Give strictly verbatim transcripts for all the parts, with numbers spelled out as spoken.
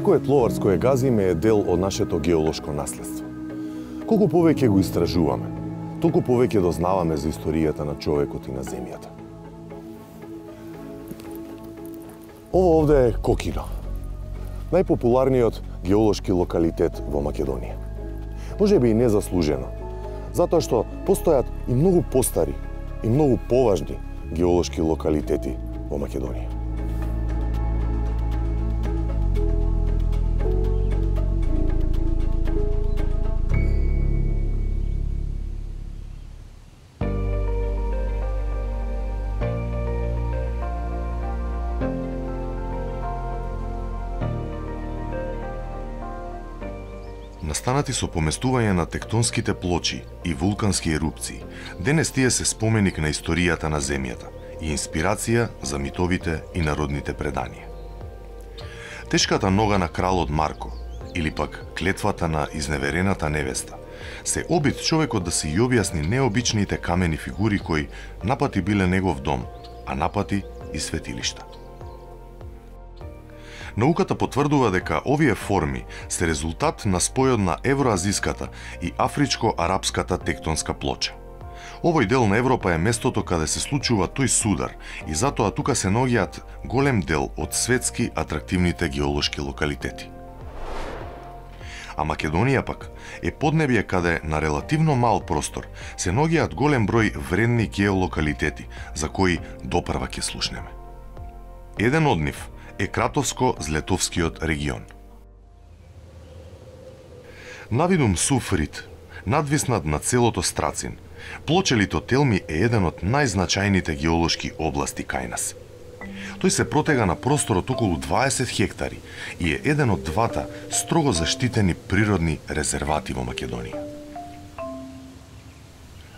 Секое тловарско е газиме е дел од нашето геолошко наследство. Колку повеќе го истражуваме, толку повеќе дознаваме за историјата на човекот и на земјата. Ово овде е Кокино, најпопуларниот геолошки локалитет во Македонија. Можеби и незаслужено, затоа што постојат и многу постари и многу поважни геолошки локалитети во Македонија. Настанати со поместување на тектонските плочи и вулкански ерупции, денес тие се споменик на историјата на земјата и инспирација за митовите и народните преданија. Тешката нога на кралот Марко, или пак клетвата на изневерената невеста, се обид човекот да си ја објасни необичните камени фигури кои напати биле негов дом, а напати и светилишта. Науката потврдува дека овие форми се резултат на спојот на евроазиската и афричко-арапската тектонска плоча. Овој дел на Европа е местото каде се случува тој судар и затоа тука се наоѓаат голем дел од светски атрактивните геолошки локалитети. А Македонија пак е поднебје каде на релативно мал простор се наоѓаат голем број вредни геолокалитети за кои допрва ќе слушнеме. Еден од нив е Кратовско-Злетовскиот регион. Навидум Суфрит, надвиснат на целото Страцин, плоча Литотелми е еден од најзначајните геолошки области кај нас. Тој се протега на простор од околу дваесет хектари и е еден од двата строго заштитени природни резервати во Македонија.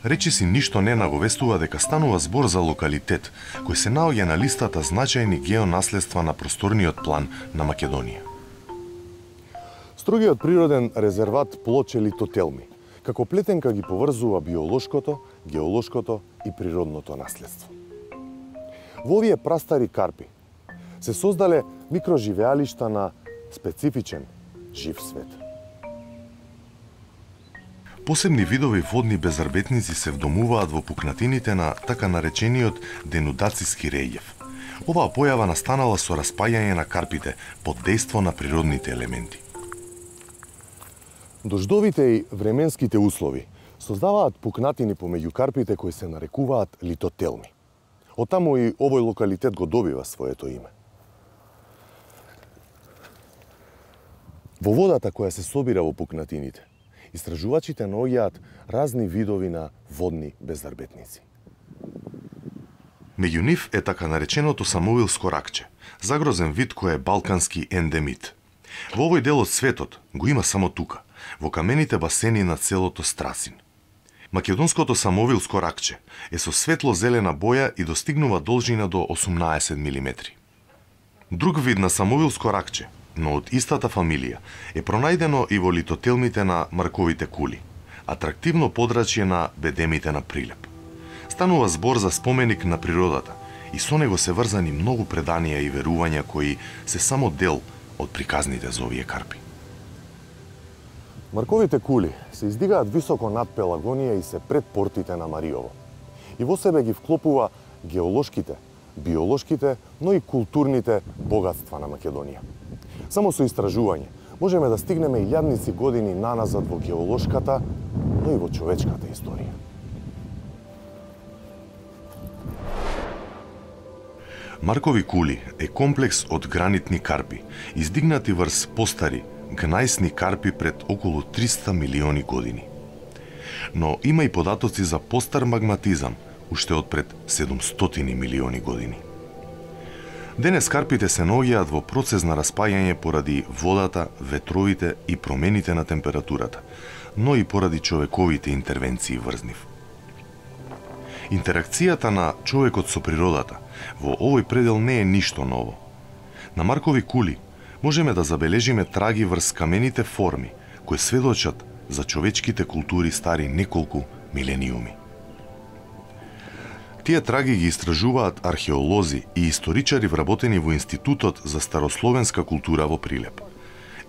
Речиси ништо не наговестува дека станува збор за локалитет кој се наоѓа на листата значајни геонаследства на просторниот план на Македонија. Строгиот природен резерват Плоче Литотелми, како плетенка ги поврзува биолошкото, геолошкото и природното наследство. Во овие прастари карпи се создале микроживеалишта на специфичен жив свет. Посебни видови водни безарбетници се вдомуваат во пукнатините на така наречениот денудациски релјеф. Оваа појава настанала со распаѓање на карпите под дејство на природните елементи. Дождовите и временските услови создаваат пукнатини помеѓу карпите кои се нарекуваат литотелми. Оттаму и овој локалитет го добива своето име. Во водата која се собира во пукнатините, истражувачите наоѓаат разни видови на водни безарбетници. Меѓу нив е така нареченото самовилско ракче, загрозен вид кој е балкански ендемит. Во овој дел од светот го има само тука, во камените басени на целото Страцин. Македонското самовилско ракче е со светло-зелена боја и достигнува должина до осумнаесет милиметри. Друг вид на самовилско ракче, но од истата фамилија, е пронајдено и во литотелмите на Марковите кули, атрактивно подрачје на бедемите на Прилеп. Станува збор за споменик на природата и со него се врзани многу преданија и верувања кои се само дел од приказните за овие карпи. Марковите кули се издигаат високо над Пелагонија и се пред портите на Мариово. И во себе ги вклопува геолошките, биолошките, но и културните богатства на Македонија. Само со истражување можеме да стигнеме илјадници години наназад во геолошката, но и во човечката историја. Маркови кули е комплекс од гранитни карпи, издигнати врз постари гнајсни карпи пред околу триста милиони години. Но има и податоци за постар магматизам, уште од пред седумстотини милиони години. Денес карпите се наоѓаат во процес на распаѓање поради водата, ветровите и промените на температурата, но и поради човековите интервенции врз нив. Интеракцијата на човекот со природата во овој предел не е ништо ново. На Маркови кули можеме да забележиме траги врз камените форми кои сведочат за човечките култури стари неколку милениуми. Тие траги ги истражуваат археолози и историчари вработени во Институтот за старословенска култура во Прилеп.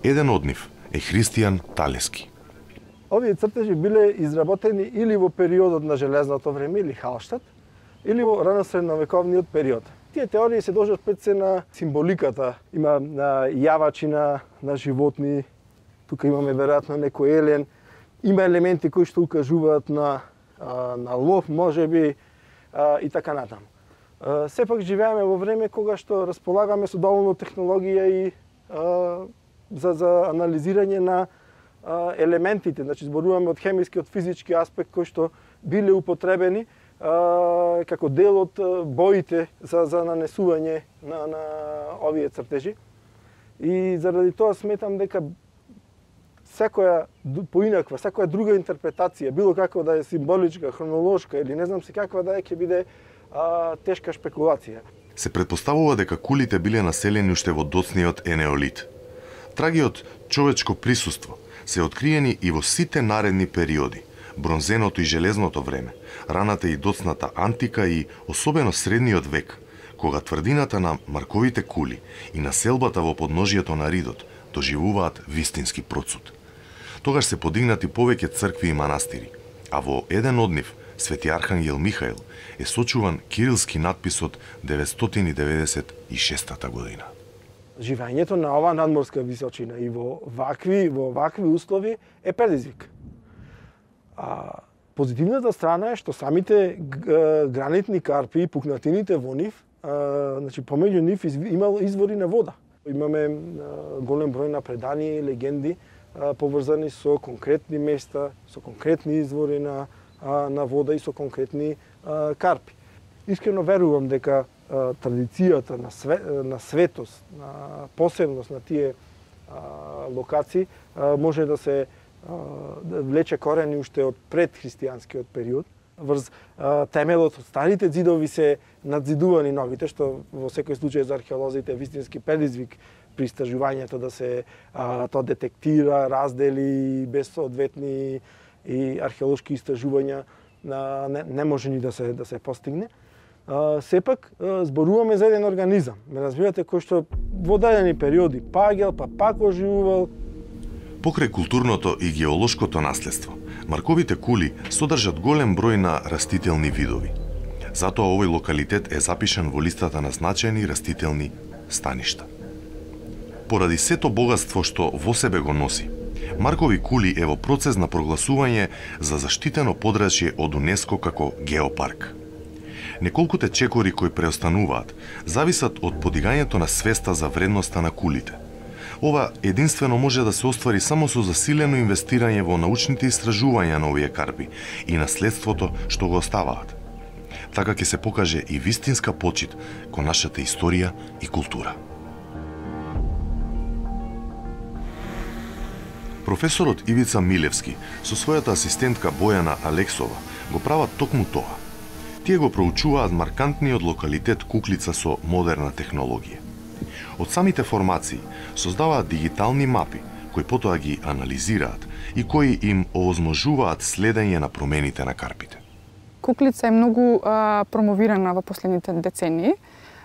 Еден од нив е Христијан Талески. Овие цртежи биле изработени или во периодот на железното време или Халштат, или во рано-средновековниот период. Тие теории се дожат пред се на символиката. Има на јавачина на животни, тука имаме веројатно некој елен, има елементи кои што укажуваат на, на лов, можеби, и така натаму. Сепак живееме во време кога што располагаме со доволно технологија и за, за анализирање на елементите, значи зборуваме од хемиски, од физички аспект кои што биле употребени а, како дел од боите за, за нанесување на, на овие цртежи. И заради тоа сметам дека секоја поинаква, секоја друга интерпретација, било како да е символичка, хронолошка или не знам се каква да е, ќе биде а, тешка шпекулација. Се предпоставува дека кулите биле населени уште во доцниот енеолит. Траги од човечко присуство се откриени и во сите наредни периоди, бронзеното и железното време, раната и доцната антика и особено средниот век, кога тврдината на Марковите кули и населбата во подножието на Ридот доживуваат вистински процут. Тогаш се подигнати повеќе цркви и манастири, а во еден од нив, Свети Архангел Михаил, е сочуван кирилски надпис од деветстотини деветдесет и шеста година. Живењето на оваа надморска височина и во вакви, во вакви услови е предизвик. А, позитивната страна е што самите гранитни карпи и пукнатините во нив, а, значи помеѓу нив имало извори на вода. Имаме а, голем број на предания и легенди а, поврзани со конкретни места, со конкретни извори на, а, на вода и со конкретни а, карпи. Искрено верувам дека а, традицијата на, све, на светост, на посебност на тие а, локации а, може да се да влече корени уште од предхристијанскиот период. Врз а, темелот од старите ѕидови се надзидувани новите, што во секој случај за археолозите е вистински предизвик при истражувањето да се а, тоа детектира, раздели без соодветни и археолошки истражувања а, не, не може ни да се да се постигне. А, сепак а, зборуваме за еден организам, ме разбирате, кој што во дадени периоди паѓал, па пак оживувал. Покрај културното и геолошкото наследство, Марковите кули содржат голем број на растителни видови. Затоа овој локалитет е запишан во листата на значајни растителни станишта. Поради сето богатство што во себе го носи, Маркови кули е во процес на прогласување за заштитено подрачје од УНЕСКО како геопарк. Неколкуте чекори кои преостануваат зависат од подигањето на свеста за вредноста на кулите. Ова единствено може да се оствари само со засилено инвестирање во научните истражувања на овие карпи и наследството што го оставаат. Така ќе се покаже и вистинска почит кон нашата историја и култура. Професорот Ивица Милевски со својата асистентка Бојана Алексова го прават токму тоа. Тие го проучуваат маркантниот локалитет Куклица со модерна технологија. Од самите формации создаваат дигитални мапи, кои потоа ги анализираат и кои им овозможуваат следење на промените на карпите. Куклица е многу а, промовирана во последните децении.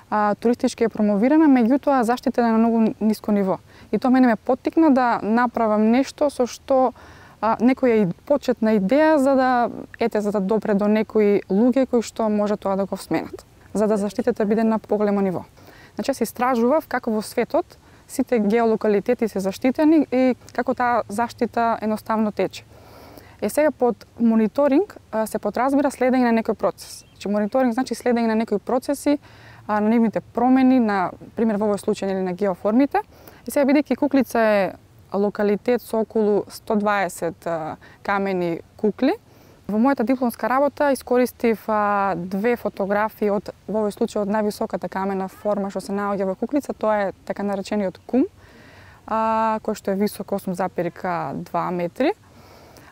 А, туристички е промовирана, меѓутоа заштитена на многу ниско ниво. И тоа мене ме поттикна да направам нешто со што а, некоја почетна идеја за да ете за да допре до некои луѓе кои што може тоа да го сменат, за да заштитата биде на поголемо ниво. Значи, се истражував како во светот сите геолокалитети се заштитени и како таа заштита едноставно тече. Е сега под мониторинг се подразбира следење на некој процес. Значи, мониторинг значи следење на некои процеси, на нивните промени, на пример во овој случај или на геоформите. И сега бидејќи Куклица е локалитет со околу сто дваесет камени кукли, во мојата дипломска работа искористив а, две фотографии од во овој случај од највисоката камена форма што се наоѓа во Куклица, тоа е така наречениот кум, а, кој што е висок осум зарез два метри.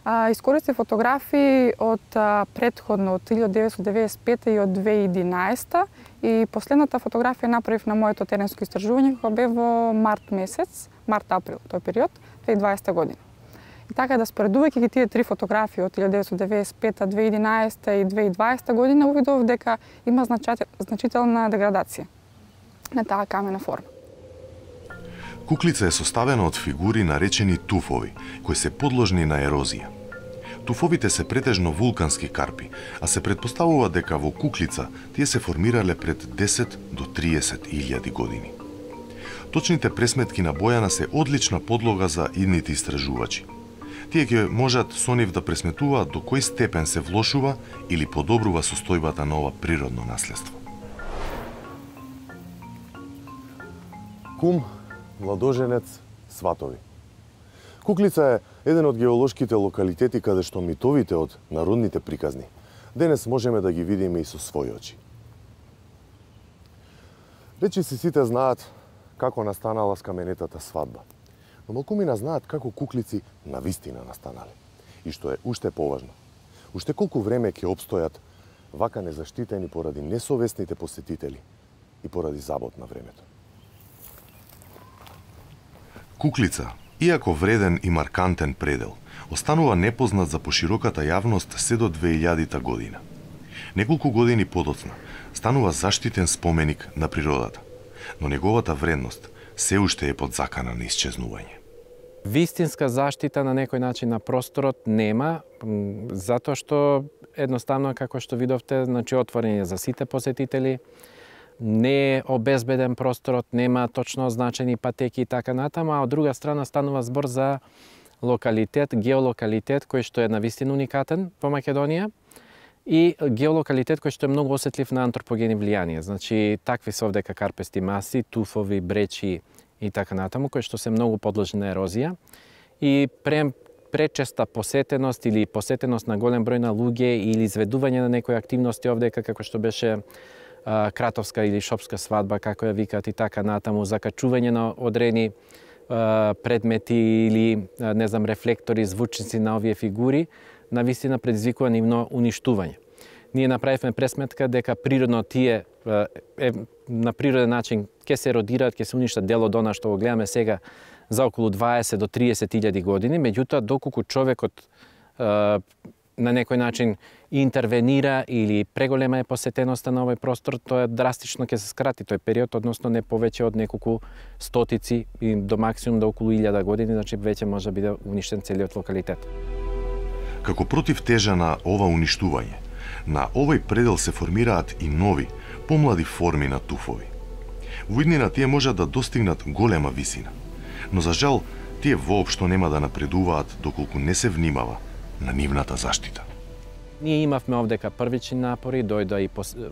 А, искористив фотографии од а, предходно од илјадесетстотини деветдесет и пета и од две илјади и единаесета и последната фотографија направив на моето теренско истражување кога бе во март месец, март-април тој период, две илјади и дваесета година. И така да споредувајќи ги тие три фотографии од илјадесетстотини деветдесет и пета, две илјади и единаесета и две илјади и дваесета година, увидов дека има значителна деградација на таа камена форма. Куклица е составена од фигури наречени туфови, кои се подложни на ерозија. Туфовите се претежно вулкански карпи, а се претпоставува дека во куклица тие се формирале пред десет до триесет илјади години. Точните пресметки на Бојана се одлична подлога за идните истражувачи. Тие ќе можат со нив да пресметуваат до кој степен се влошува или подобрува состојбата на ова природно наследство. Кум, младоженец, сватови. Куклица е еден од геолошките локалитети каде што митовите од народните приказни денес можеме да ги видиме и со своји очи. Речиси сите знаат како настанала скаменетата свадба, но малкумина знаат како куклици навистина настанале. И што е уште поважно, уште колку време ќе обстојат вака незаштитени поради несовесните посетители и поради забот на времето. Куклица, иако вреден и маркантен предел, останува непознат за пошироката јавност се до две илјадита година. Неколку години подоцна станува заштитен споменик на природата, но неговата вредност се уште е под закана на исчезнување. Вистинска заштита на некој начин на просторот нема, затоа што едноставно, како што видовте, значи отворен е за сите посетители, не е обезбеден просторот, нема точно означени патеки и така натаму, а од друга страна станува збор за локалитет, геолокалитет кој што е навистина уникатен во Македонија и геолокалитет кој што е многу осетлив на антропогени влијанија. Значи такви се овдека карпести маси, туфови, бречи и така натаму кои што се многу подложни на ерозија и пре пречеста посетеност или посетеност на голем број на луѓе или изведување на некои активности овдека како што беше кратовска или шопска свадба, како ја викаат и така натаму, закачување на одредени предмети или, не знам, рефлектори, звучници на овие фигури, навистина предизвикува нивно уништување. Ние направивме пресметка дека природно тие е, на природен начин ќе се еродираат, ќе се уништат дел од она што го гледаме сега за околу дваесет до триесет илјади години, меѓутоа доколку човекот на некој начин интервенира или преголема е посетеноста на овој простор, тоа драстично ќе се скрати тој период, односно не повеќе од неколку стотици и до максимум до околу илјада години, значи веќе може да биде уништен целиот локалитет. Како против тежа на ова уништување, на овој предел се формираат и нови, помлади форми на туфови. Во иднина тие можат да достигнат голема висина, но за жал тие воопшто нема да напредуваат доколку не се внимава на нивната заштита. Ние имавме овдека првични напори, дојда и пос, е,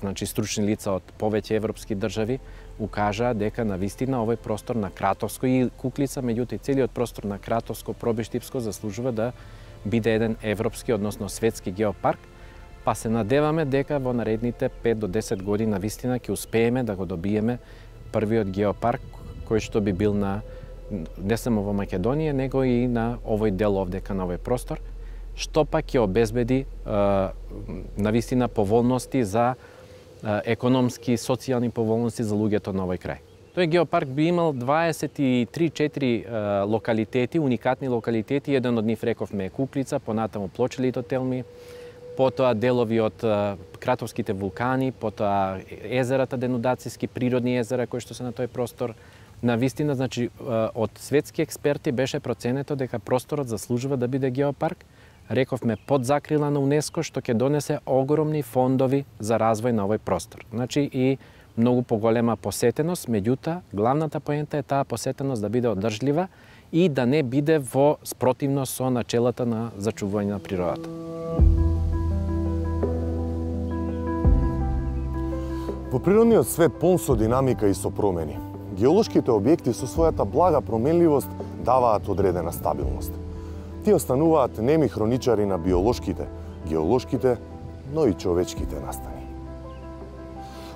значи стручни лица од повеќе европски држави, укажаа дека навистина овој простор на Кратовско и Куклица, меѓутоа и целиот простор на Кратовско, Пробиштипско заслужува да биде еден европски, односно светски геопарк, па се надеваме дека во наредните пет до десет години навистина ќе успееме да го добиеме првиот геопарк кој што би бил на не само во Македонија, него и на овој дел овдека на овој простор, што пак ќе обезбеди навистина поволности за економски, социјални поволности за луѓето на овој крај. Тој геопарк би имал дваесет и три четири локалитети, уникатни локалитети, еден од нив рековме е Куклица, понатаму Плочелито Телми, потоа делови од Кратовските вулкани, потоа езерата денудацијски, природни езера кои што се на тој простор. Навистина, значи, од светски експерти беше проценето дека просторот заслужува да биде геопарк. Рековме под закрила на УНЕСКО, што ќе донесе огромни фондови за развој на овој простор. Значи и многу поголема посетеност, меѓутоа главната поента е таа посетеност да биде одржлива и да не биде во спротивност со начелата на зачувување на природата. Во природниот свет полн со динамика и со промени, геолошките објекти со својата блага променливост даваат одредена стабилност. Тие остануваат неми хроничари на биолошките, геолошките, но и човечките настани.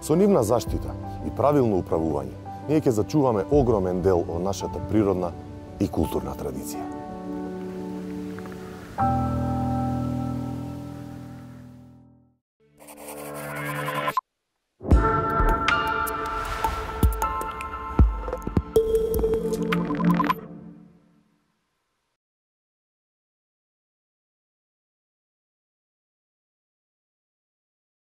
Со нивна заштита и правилно управување, ние ќе зачуваме огромен дел од нашата природна и културна традиција.